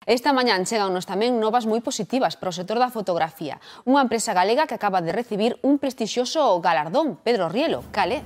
Esta mañán chegannos tamén novas moi positivas para o sector da fotografía. Unha empresa galega que acaba de recibir un prestixioso galardón. Pedro Rielo, cal é?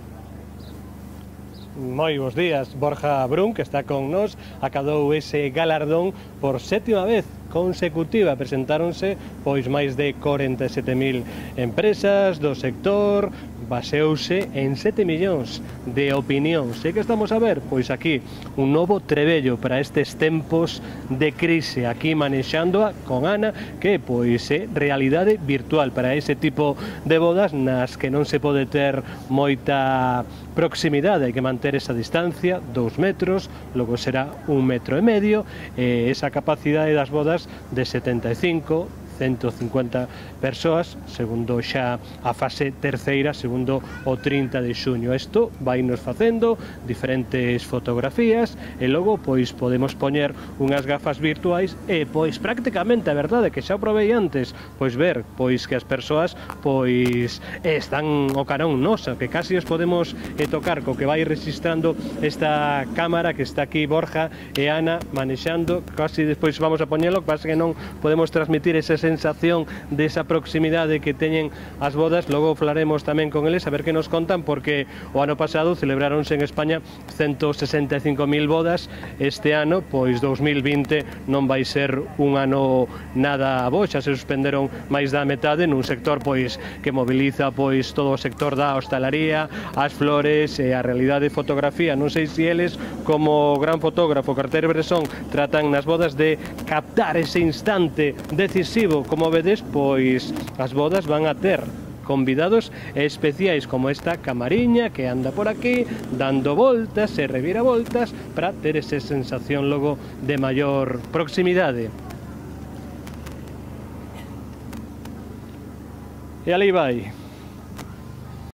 Moi bons días. Borja Brun, que está con nós, acadou ese galardón por 7ª vez consecutiva. Presentáronse pois máis de 47.000 empresas do sector, baseouse en 7 millóns de opinións. E que estamos a ver? Pois aquí un novo trebello para estes tempos de crise, aquí manexándoa con Ana, que pois é realidade virtual para ese tipo de bodas nas que non se pode ter moita proximidade, hai que manter esa distancia, 2 metros, logo será 1,5 metros, e esa capacidade das bodas de 75, 150 persoas, segundo xa a fase terceira, segundo o 30 de xuño. Isto vai nos facendo diferentes fotografías e logo pois podemos poñer unhas gafas virtuais e pois prácticamente a verdade que xa probei antes, pois ver pois que as persoas pois están o carón nosa, que casi os podemos tocar co que vai registrando esta cámara que está aquí Borja e Ana manexando, casi despois vamos a poñelo, pasa que non podemos transmitir esa sensación desa proximidade que teñen as bodas. Logo falaremos tamén con eles a ver que nos contan, porque o ano pasado celebráronse en España 165.000 bodas. Este ano, pois 2020 non vai ser un ano nada bo, xa se suspenderon máis da metade nun sector pois que moviliza pois todo o sector da hostalaría, as flores e a realidade de fotografía. Non sei se eles, como gran fotógrafo Carter Bresson, tratan nas bodas de captar ese instante decisivo. Como vedes, pois as bodas van a ter convidados especiais como esta camariña que anda por aquí dando voltas e reviravoltas para ter esa sensación logo de maior proximidade. E ali vai.